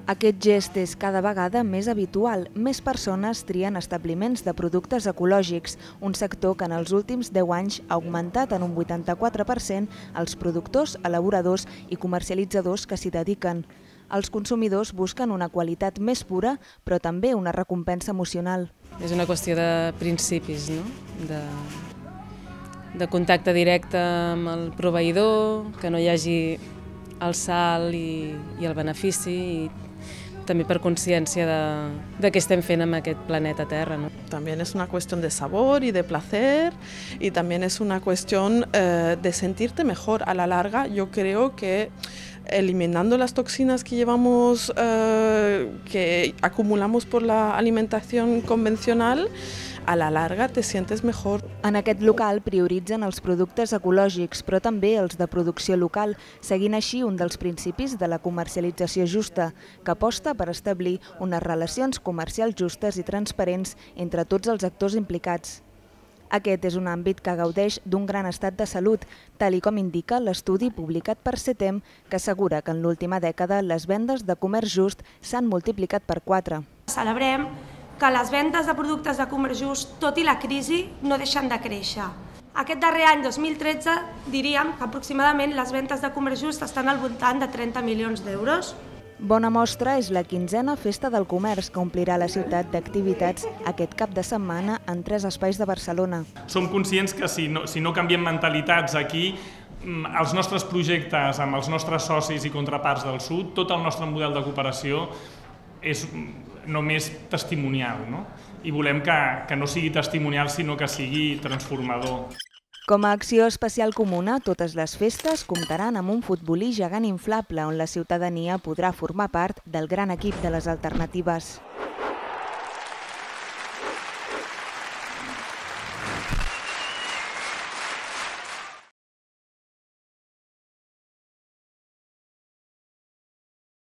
Aquest gest és cada vegada més habitual. Més persones trien establiments de productes ecològics, un sector que en els últims 10 anys ha augmentat en un 84% els productors, elaboradors i comercialitzadors que s'hi dediquen. Els consumidors busquen una qualitat més pura, però també una recompensa emocional. És una qüestió de principis, no? De contacte directe amb el proveïdor, que no hi hagi el salt i el benefici, i també per consciència de què estem fent amb aquest planeta Terra, ¿no? También es una cuestión de sabor y de placer, y también es una cuestión de sentirte mejor. A la larga, yo creo que eliminando las toxinas que llevamos, que acumulamos por la alimentación convencional, a la larga te sientes mejor. En aquest local prioritzen els productes ecològics, però també els de producció local, seguint així un dels principis de la comercialització justa, que aposta per establir unes relacions comercials justes i transparents entre tots els actors implicats. Aquest és un àmbit que gaudeix d'un gran estat de salut, tal com indica l'estudi publicat per CETEM, que assegura que en l'última dècada les vendes de comerç just s'han multiplicat per 4. Celebrem que les vendes de productes de comerç just, tot i la crisi, no deixen de créixer. Aquest darrer any, 2013, diríem que aproximadament les vendes de comerç just estan al voltant de 30 milions d'euros. Bona mostra és la 15a Festa del Comerç, que omplirà la ciutat d'activitats aquest cap de setmana en 3 espais de Barcelona. Som conscients que si no canviem mentalitats aquí, els nostres projectes amb els nostres socis i contraparts del sud, tot el nostre model de cooperació és només testimonial, no? I volem que no sigui testimonial, sinó que sigui transformador. Com a acció especial comuna, totes les festes comptaran amb un futbolí gegant inflable on la ciutadania podrà formar part del gran equip de les alternatives.